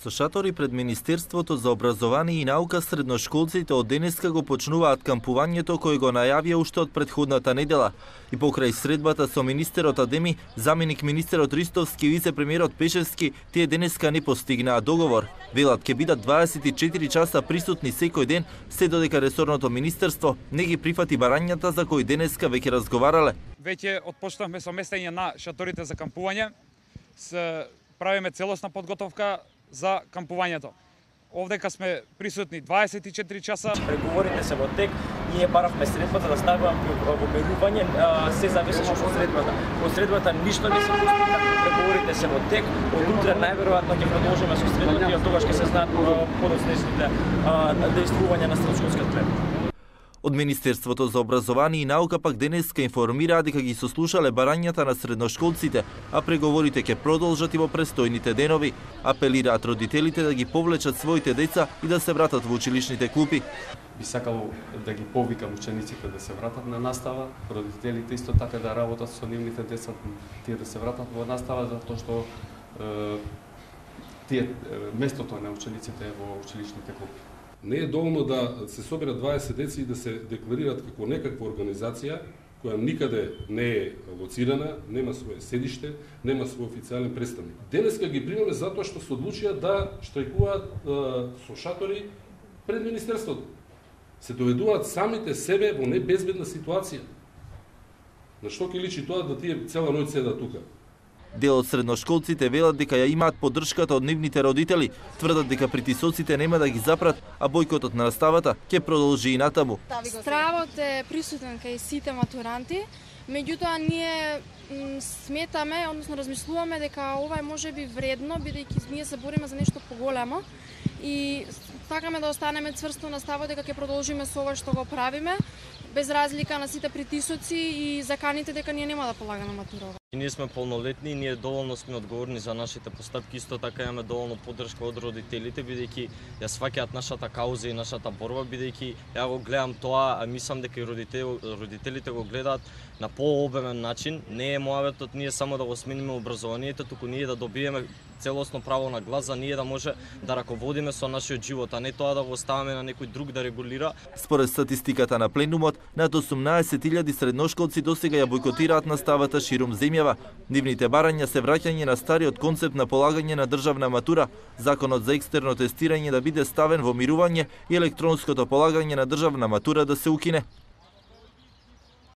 Со шатори пред Министерството за образование и наука средношколците од денеска го почнуваат кампувањето кој го најавија уште од претходната недела. И покрај средбата со министерот Адеми, заменик министерот Ристовски и вице-премиерот Пешевски, тие денеска не постигнаа договор. Велат ќе бидат 24 часа присутни секој ден, се додека ресорното министерство не ги прифати барањата за кои денеска веќе разговарале. Веќе отпочнавме со местење на шаторите за кампување. Правиме целосна подготовка за кампувањето. Овдека сме присутни 24 часа. Преговорите се во тек, ние баравме средбата да ставаме во мерување, се зависимо од средбата. Од средбата ништо не се постигна, преговорите се во тек, од утре најверојатно ќе продолжиме со средбата и од тогаш ќе се знаат подоцнешните действувања на средношколскиот плен. Од Министерството за образование и наука пак денеска информираа дека ги сослушале барањата на средношколците, а преговорите ќе продолжат и во престојните денови. Апелираат родителите да ги повлечат своите деца и да се вратат во училишните клупи. Би сакало да ги повикам учениците да се вратат на настава, родителите исто така да работат со нивните деца, тие да се вратат во настава, затоа што местото на учениците е во училишните клупи. Не е доволно да се соберат 20 деца и да се декларираат како некаква организација која никаде не е лоцирана, нема свое седиште, нема свој официјален представник. Денеска ги примаме затоа што се одлучија да штрајкуваат со шатори пред Министерството. Се доведуваат самите себе во небезбедна ситуација. На што ќе личи тоа да тие цела ноќ седат тука? Дел од средношколците велат дека ја имаат поддршката од нивните родители, тврдат дека притисоците нема да ги запрат, а бојкотот на наставата ќе продолжи и натаму. Стравот е присутен кај сите матуранти, меѓутоа ние сметаме, односно размислуваме дека ова е можеби вредно, бидејќи ние се бориме за нешто поголемо и сакаме да останеме цврсто на ставот дека ќе продолжиме со ова што го правиме, без разлика на сите притисоци и заканите дека ние нема да полагаме матура. Ние сме полнолетни, ние доволно сме одговорни за нашите постапки, исто така имаме доволно поддршка од родителите, бидејќи ја сваќаат нашата кауза и нашата борба, бидејќи ја го гледам тоа, а мислам дека и родителите го гледаат на пообемен начин. Не е мојаветот ние само да го смениме образованието, туку ние да добиеме целосно право на глас, за ние да може да раководиме со нашиот живот, а не тоа да го оставаме на некој друг да регулира. Според статистиката на пленумот, над 18.000 средношколци досега ја бојкотираат наставата ширум земјава. Нивните барања се враќање на стариот концепт на полагање на државна матура, законот за екстерно тестирање да биде ставен во мирување и електронското полагање на државна матура да се укине.